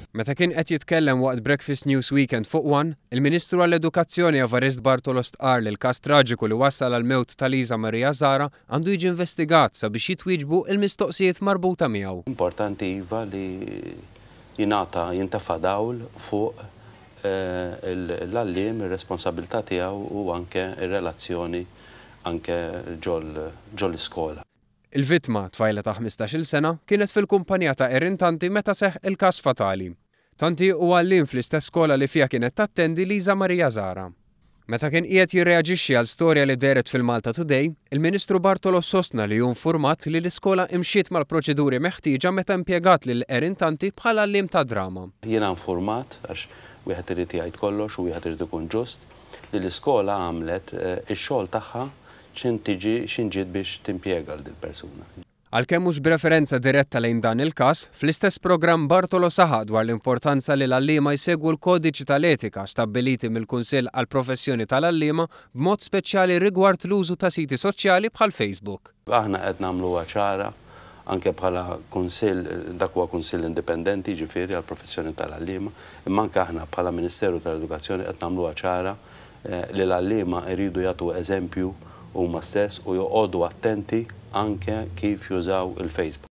Meta kien qed jitkellem waqt Breakfast News Weekend fuq One, il-Ministru għall-Edukazzjoni Evarist Bartolo stqarr li l-każ traġiku li wassal għall-mewt ta' Lisa Maria Zahra għandu jiġi investigat sabiex jitwieġbu l-mistoqsijiet marbuta miegħu. Importanti iva li jingħata jintefa' dawl fuq l-għalliem, ir-responsabilità tiegħu u anke r-relazzjoni anke ġol-iskola. Il-vittma, tfajla ta' 15-il sena, kienet fil-kumpanija ta' Erin Tanti meta seħħ il-każ fatali. Tanti hu għalliem fl-istess skola li fiha kienet tattendi Lisa Maria Zahra. Meta kien qiegħed jirreaġixxi għal storja li dehret fil-Malta Today, il-Ministru Bartolo sostna li hu nfurmat li l-iskola imxiet mal-proċeduri meħtieġa meta impjegat lil Erin Tanti bħala għalliem tad-drama. Jiena nfurmat, għax wieħed irid jgħid kollox u wieħed irid ikun ġust, li l-iskola għamlet ix-xogħol tagħha x'in tiġi x'in ġiet biex timpjega 'l dil-persuna. Għalkemm mhux b'referenza diretta lejn dan il-każ, fl-istess programm Bartolo saħaq dwar l-importanza li l-għalliema jsegwu l-kodiċi tal-etika stabbiliti mill-Kunsill għall-Professjoni tal-Għalliema b'mod speċjali rigward l-użu ta' siti soċjali bħal Facebook. Aħna qed nagħmluha ċara anke bħala Kunsill, dak huwa kunsill indipendenti jiġifieri għall-professjoni tal-għalliema, imma anke aħna bħala Ministeru tal-Edukazzjoni qed nagħmluha ċara li l-għalliema jridu jagħtu eżempju huma stess u joqogħdu attenti anke kif jużaw il-Facebook.